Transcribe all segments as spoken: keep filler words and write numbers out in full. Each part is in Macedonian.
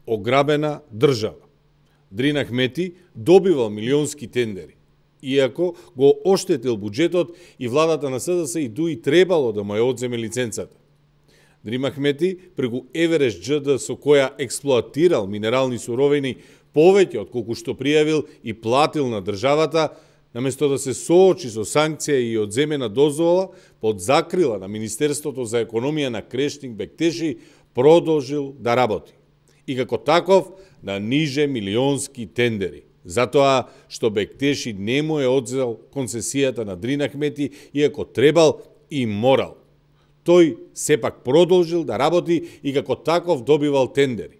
ограбена држава. Дрина Ахмети добивал милионски тендери, иако го оштетил буџетот и владата на СДС и ДУИ требало да му ја одземе лиценцата. Дрина Ахмети преку Еверест џд со која експлоатирал минерални суровини повеќе од колку што пријавил и платил на државата, наместо да се соочи со санкција и одземена дозвола под закрила на Министерството за економија на Крештинг Бектеши, продолжил да работи. И како таков да ниже милионски тендери. Затоа што Бектеши не му е одзел концесијата на Дрина Ахмети, иако требал и морал. Тој сепак продолжил да работи и како таков добивал тендери.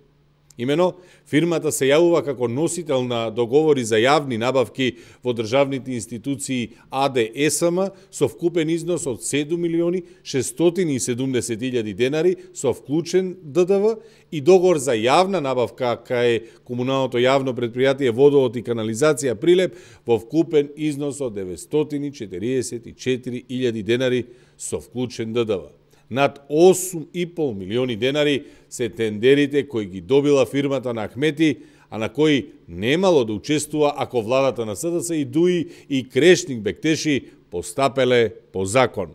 Имено, фирмата се јавува како носител на договори за јавни набавки во државните институции АД ЕСМ со вкупен износ од седум милиони шестстотини и седумдесет илјади денари со вклучен ДДВ и договор за јавна набавка кај комуналното јавно предпријатие Водовод и канализација Прилеп во вкупен износ од деветстотини четириесет и четири илјади денари со вклучен ДДВ. Над осум и пол милиони денари се тендерите кои ги добила фирмата на Ахмети, а на кои немало да учествува ако владата на СДС и ДУИ и Крештинг Бектеши постапеле по закон.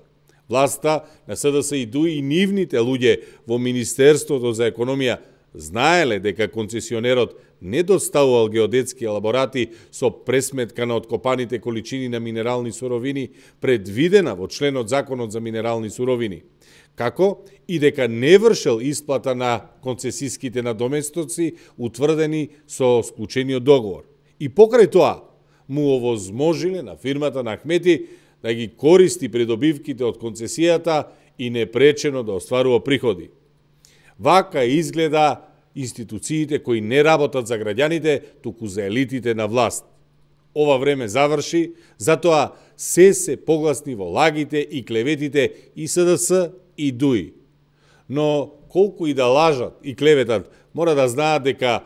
Власта на СДС и ДУИ и нивните луѓе во Министерството за економија знаеле дека концесионерот не доставувал геодетски елаборати со пресметка на откопаните количини на минерални суровини предвидена во членот Законот за минерални суровини, како и дека не вршел исплата на концесиските надоместоци утврдени со склучениот договор. И покрај тоа му овозможиле на фирмата на Ахмети да ги користи придобивките од концесијата и непречено да остварува приходи. Вака изгледа институциите кои не работат за граѓаните, туку за елитите на власт. Ова време заврши, затоа се се погласни во лагите и клеветите и СДС и ДУИ. Но колку и да лажат и клеветат, мора да знаат дека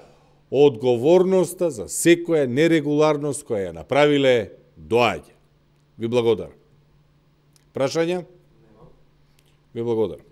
одговорноста за секоја нерегуларност која ја направиле доаѓа. Ви благодарам. Прашања? Ви благодарам.